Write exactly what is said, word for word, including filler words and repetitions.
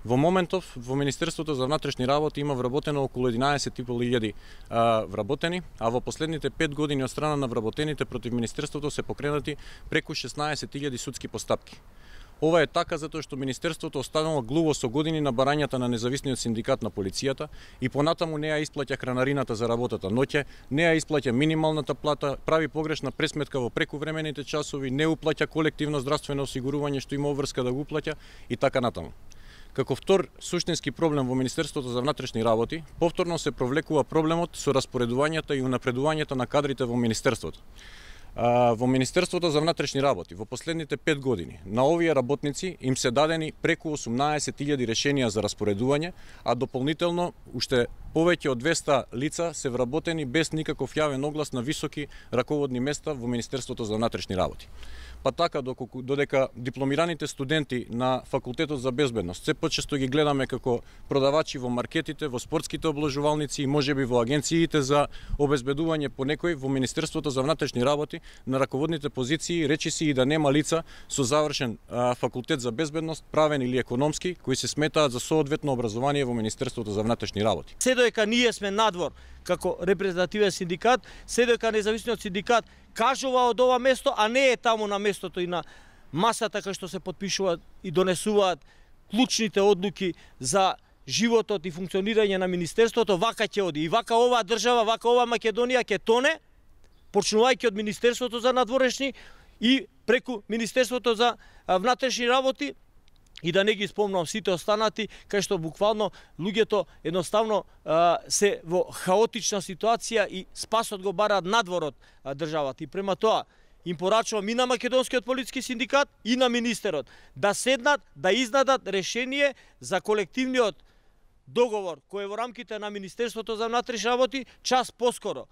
Во моментов во Министерството за внатрешни работи има вработено околу единаесет и пол илјади вработени, а во последните пет години од страна на вработените против Министерството се покренати преку шеснаесет илјади судски постапки. Ова е така затоа што Министерството останало глуво со години на барањата на независниот синдикат на полицијата и понатаму не ја исплаќа хранарината за работата ноќе, не ја исплаќа минималната плата, прави погрешна пресметка во прекувремените часови, не уплаќа колективно здравствено осигурување што има обврска да го уплаќа и така натаму. Како втор суштински проблем во Министерството за внатрешни работи, повторно се провлекува проблемот со распоредувањата и унапредувањето на кадрите во Министерството. Во Министерството за внатрешни работи во последните пет години на овие работници им се дадени преку осумнаесет илјади решенија за распоредување, а дополнително уште повеќе од двесте лица се вработени без никаков јавен оглас на високи раководни места во Министерството за внатрешни работи. Па така, додека дипломираните студенти на Факултетот за безбедност се почесто ги гледаме како продавачи во маркетите, во спортските обложувалници и можеби во агенциите за обезбедување по некој, во Министерството за внатрешни работи на раководните позиции речиси и да нема лица со завршен а, факултет за безбедност, правен или економски, кои се сметаат за соодветно образование во Министерството за внатрешни работи. Се додека ние сме надвор како репрезентативен синдикат, се додека независниот синдикат кажува од ова место, а не е таму на местото и на масата кај што се потпишуваат и донесуваат клучните одлуки за животот и функционирање на Министерството, вака ќе оди. И вака оваа држава, вака оваа Македонија ќе тоне, почнувајќи од Министерството за надворешни и преку Министерството за внатрешни работи, и да не ги спомнам сите останати, кај што буквално луѓето едноставно а, се во хаотична ситуација и спасот го бараат надвор од државата. И према тоа им порачувам и на Македонскиот полициски синдикат и на министерот да седнат, да изнадат решение за колективниот договор кој е во рамките на Министерството за внатрешни работи час поскоро,